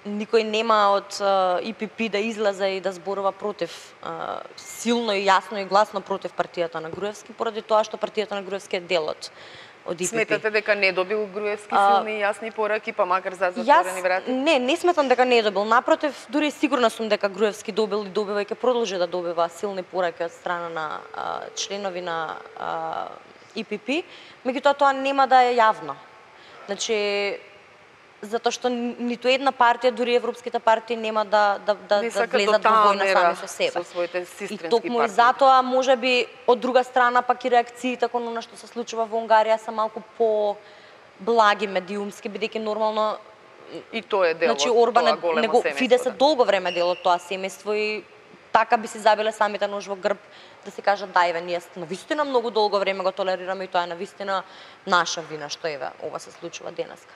никој нема од ИПП да излезе и да зборува против, силно и јасно и гласно против партијата на Груевски, поради тоа што партијата на Груевски е дел од ИПП. Сметате дека не добил Груевски силни и јасни пораки, па макар за затворени врати? Не сметам дека не е добил. Напротив, дури сигурна сум дека Груевски добил и добива и ќе продолжи да добива силни пораки од страна на членови на ИПП, меѓутоа тоа нема да е јавно. Значи, затоа што ниту една партија, дури европските партии, нема да влезат во војна сами со себе. Со своите сестрински и токму партии. И затоа, можеби, од друга страна, пак и реакциите кон она што се случува во Унгарија се малку по-благи медиумски, бидејќи нормално и тоа е дел од Орбан тоа големо семејство. Фидес е долго време дел од тоа семејство и така би си забиле самите нож во грб да се кажат да, еве, ние навистина многу долго време го толерираме и тоа е навистина наша вина што еве ова се случува денеска.